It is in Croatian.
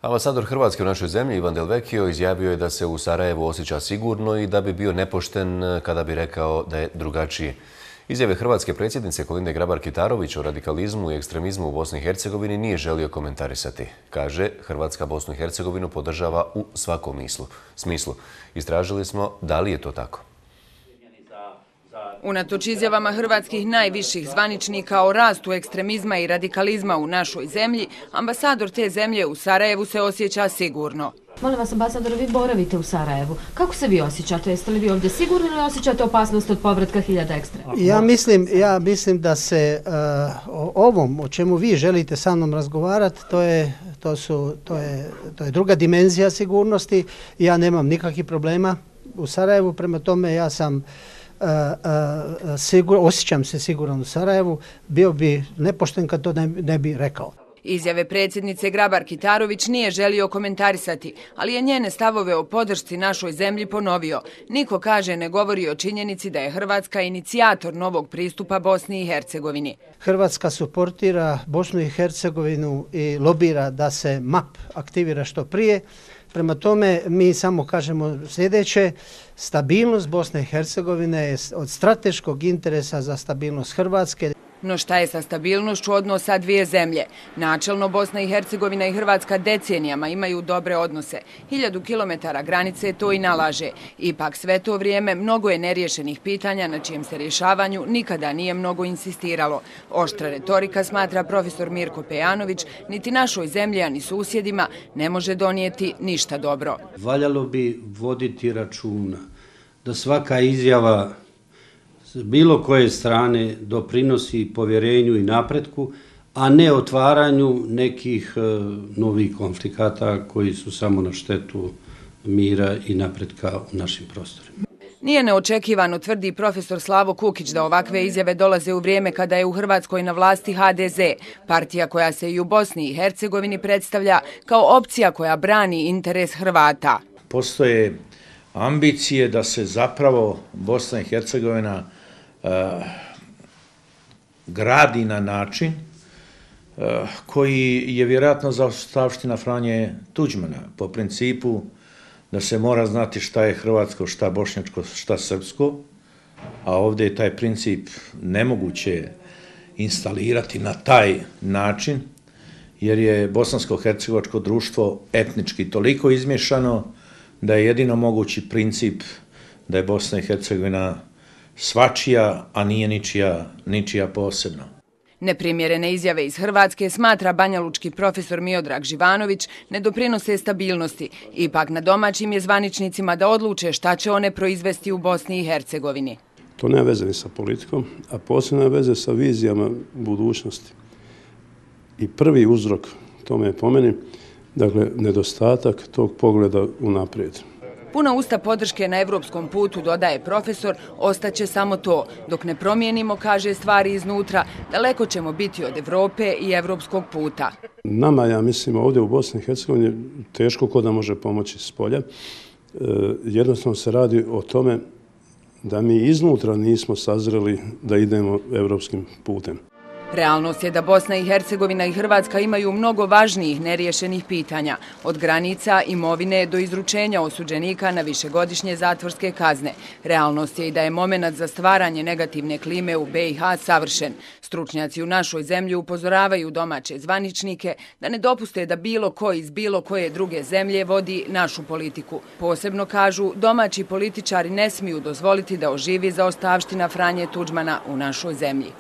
Ambasador Hrvatske u našoj zemlji Ivan Del Vecchio izjavio je da se u Sarajevu osjeća sigurno i da bi bio nepošten kada bi rekao da je drugačije. Izjave hrvatske predsjednice Kolinde Grabar-Kitarović o radikalizmu i ekstremizmu u Bosni i Hercegovini nije želio komentarisati. Kaže, Hrvatska Bosnu i Hercegovinu podržava u svakom smislu. Istražili smo da li je to tako. Unatoč izjavama hrvatskih najviših zvaničnika o rastu ekstremizma i radikalizma u našoj zemlji, ambasador te zemlje u Sarajevu se osjeća sigurno. Molim vas, ambasador, vi boravite u Sarajevu. Kako se vi osjećate? Jeste li vi ovdje sigurni ili osjećate opasnost od povratka hiljada ekstrema? Ja mislim da se o ovom o čemu vi želite sa mnom razgovarati, to je druga dimenzija sigurnosti. Ja nemam nikakvih problema u Sarajevu, prema tome ja sam osjećam se siguran u Sarajevu, bio bi nepošten kad to ne bi rekao. Izjave predsjednice Grabar-Kitarović nije želio komentarisati, ali je njene stavove o podršci našoj zemlji ponovio. Niko, kaže, ne govori o činjenici da je Hrvatska inicijator novog pristupa Bosni i Hercegovini. Hrvatska suportira Bosnu i Hercegovinu i lobira da se MAP aktivira što prije. Prema tome, mi samo kažemo sljedeće: stabilnost Bosne i Hercegovine je od strateškog interesa za stabilnost Hrvatske. No šta je sa stabilnošću odnosa dvije zemlje? Načelno, Bosna i Hercegovina i Hrvatska decenijama imaju dobre odnose. 1000 kilometara granice to i nalaže. Ipak sve to vrijeme mnogo je neriješenih pitanja na čijem se rješavanju nikada nije mnogo insistiralo. Oštra retorika, smatra profesor Mirko Pejanović, niti našoj zemlji, a ni susjedima ne može donijeti ništa dobro. Valjalo bi voditi računa da svaka izjava s bilo koje strane doprinosi povjerenju i napretku, a ne otvaranju nekih novih konflikata koji su samo na štetu mira i napretka u našim prostorima. Nije neočekivano, tvrdi profesor Slavo Kukić, da ovakve izjave dolaze u vrijeme kada je u Hrvatskoj na vlasti HDZ, partija koja se i u Bosni i Hercegovini predstavlja kao opcija koja brani interes Hrvata. Postoje ambicije da se zapravo Bosna i Hercegovina gradi na način koji je vjerojatno zaostavština Franje Tuđmana, po principu da se mora znati šta je hrvatsko, šta bošnjačko, šta srpsko, a ovdje je taj princip nemoguće instalirati na taj način, jer je bosansko-hercegovačko društvo etnički toliko izmješano da je jedino mogući princip da je Bosna i Hercegovina svačija, a nije ničija posebno. Neprimjerene izjave iz Hrvatske, smatra banjalučki profesor Miodrag Živanović, ne doprinose stabilnosti. Ipak na domaćim je zvaničnicima da odluče šta će one proizvesti u Bosni i Hercegovini. To nema veze ni sa politikom, a posebno nema veze sa vizijama budućnosti. I prvi uzrok tome je po meni, dakle, nedostatak tog pogleda unaprijed. Puna usta podrške na evropskom putu, dodaje profesor, ostaće samo to. Dok ne promijenimo, kaže, stvari iznutra, daleko ćemo biti od Evrope i evropskog puta. Nama, ja mislim, ovdje u Bosni i Hercegovini teško ko da može pomoći s polja. Jednostavno se radi o tome da mi iznutra nismo sazreli da idemo evropskim putem. Realnost je da Bosna i Hercegovina i Hrvatska imaju mnogo važnijih neriješenih pitanja, od granica, imovine do izručenja osuđenika na višegodišnje zatvorske kazne. Realnost je i da je moment za stvaranje negativne klime u BiH savršen. Stručnjaci u našoj zemlji upozoravaju domaće zvaničnike da ne dopuste da bilo ko iz bilo koje druge zemlje vodi našu politiku. Posebno, kažu, domaći političari ne smiju dozvoliti da oživi zaostavština Franje Tuđmana u našoj zemlji.